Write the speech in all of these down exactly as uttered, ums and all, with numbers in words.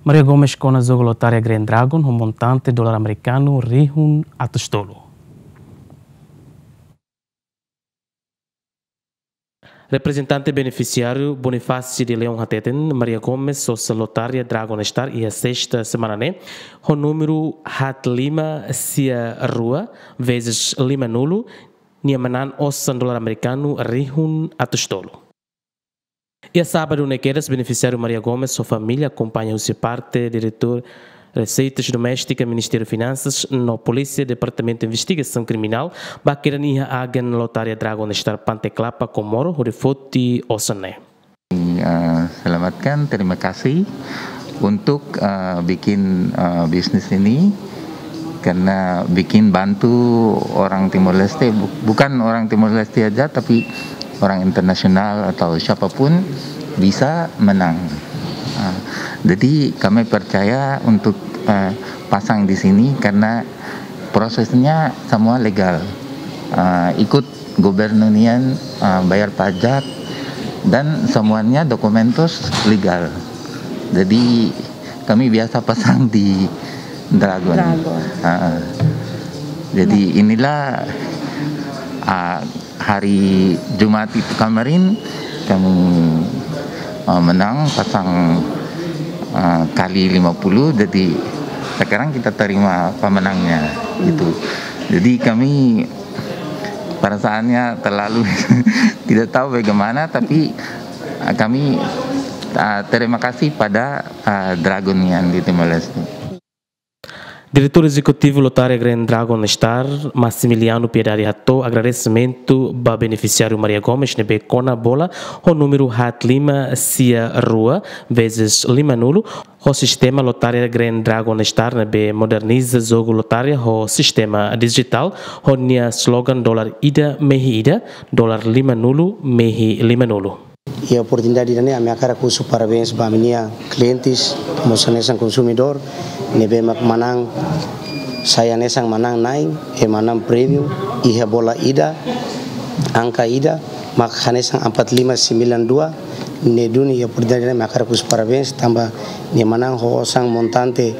Maria Gomes kona jogu lotaria Grand Dragon ho montante dolar amerikanu rihun atus tolu. Reprezentante benefisiáriu Bonifácio de Leão hateten, Maria Gomes osan lotaria Dragon Star iha sesta semana ne'e, ho númeru haat lima sia rua vezes lima nulu, nia manán osan dolar amerikanu rihun atus tolu. Iha sábadu ne'e kedas benefisiáriu Maria Gomes ho família akompaña husi parte Diretór Reseitas Doméstika Ministériu Finansas no Polísia Departamentu Investigasaun Kriminál ba kedan iha agen lotaria Dragon Star Pante Klapa, Komoro, hodi foti osan ne'e. Eh, selamatkan, terima kasih untuk, eh, bikin, eh, bisnis ini karena bikin bantu orang Timor Leste, bu-, bukan orang Timor Leste aja, tapi orang internasional atau siapapun bisa menang. Ah, jadi kami percaya untuk, eh, pasang di sini karena prosesnya semua legal. Ah, ikut gubernur nian, ah, bayar pajak dan semuanya dokumentus legal. Jadi kami biasa pasang di Dragon. Dragon. Ah, jadi inilah, ah, hari Jumat itu kemarin kami, ah, menang pasang, ah, kali lima puluh, jadi sekarang kita terima pemenangnya gitu. Jadi kami perasaannya terlalu tidak tahu bagaimana, tapi, ah, kami, ah, terima kasih pada, ah, Dragon nian di Timor Leste. Diretór Ezekutivu Lotaria Grand Dragon Star, Maximiliano Piedade hato'o agradesimentu ba benefisiáriu Maria Gomes ne'ebé kona bola ho númeru haat lima sia rua vezes lima nulu, ho sistema lotaria Grand Dragon Star ne'ebé moderniza jogu lotaria ho sistema dijitál, ho nia slogan dolar ida mehi ida, dolar lima nulu mehi lima nulu. Iha oportunidade ida-ne'e ami hakarak husu parabéns ba ami-nia klientes, mós hanesan konsumidór ne'ebé mak manán, sai hanesan manán na'in, iha manán prémiu, iha bola ida, angka ida, mak hanesan empat lima sembilan dua, ne'e duni iha oportunidade ida-ne'e ami hakarak husu parabéns, tanba nia manán ho osan montante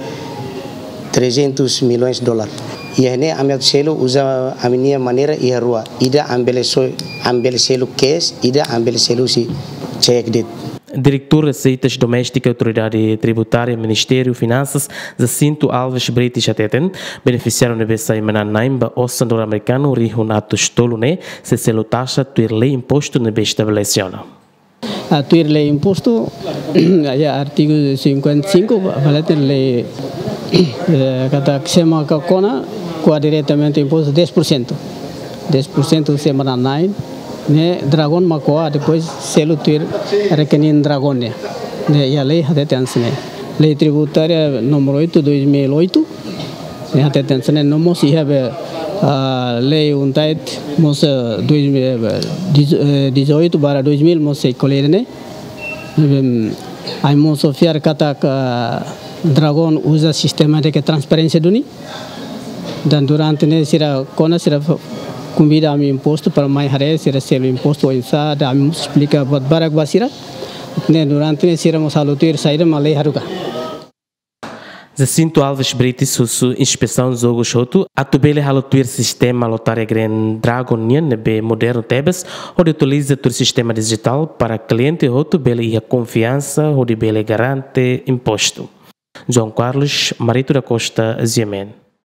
trezentos milhões dolar. Iha ne'e ami atu selu uza ami-nia maneira iha rua. Ida ami bele so-, ami bele selu cash, ida ami bele selu husi cheque de'it. Diretór Reseitas Doméstika Autoridade Tributária Ministériu Finansas, Jacinto Alves Brites hateten, benefisiáriu ne'ebé sai manán na'in ba osan dolar amerikanu rihun atus tolu ne'e, sei selu taxa tuir lei impostu ne'ebé estabelese ona. Ah, tuir lei impostu, iha artigu cinquenta e cinco, fala de'it lei, eh, katak sé mak kona, ko'a diretamente impostu dez por cento. Dez por cento sé mak manán na'in, ne'e Dragon mak ko'a, depois selu tuir rekening Dragon nian. Ne'e iha lei hateten hanesan ne'e. Lei Tributária número oito, dois mil e oito, ne'e hateten hanesan ne'e, no mós iha be, ah, lei UNTAD mós, eh, dois mil, eh, dez-, eh, dezoito barra dois mil mós sei ko'alia ne'e. Em, ami mós fiar katak Dragon uza sistema ida ke transparénsia duni. Dan durante ne'e sira kona sira f-, konvida ami impostu para mai haree sira selu impostu oinsá, dan ami mós esplika buat barak ba sira. Ne'e durante ne'e sira mós halo tuir saida mak lei haruka. Jacinto Alves Brites husu inspesaun jogos hotu atu bele halo tuir sistema lotaria Grand Dragon nian ne'ebé modernu tebes, hodi atualiza tuir sistema dijitál para kliente hotu bele iha konfiansa hodi bele garante impostu. João Carlos, Marito da Costa, G M N.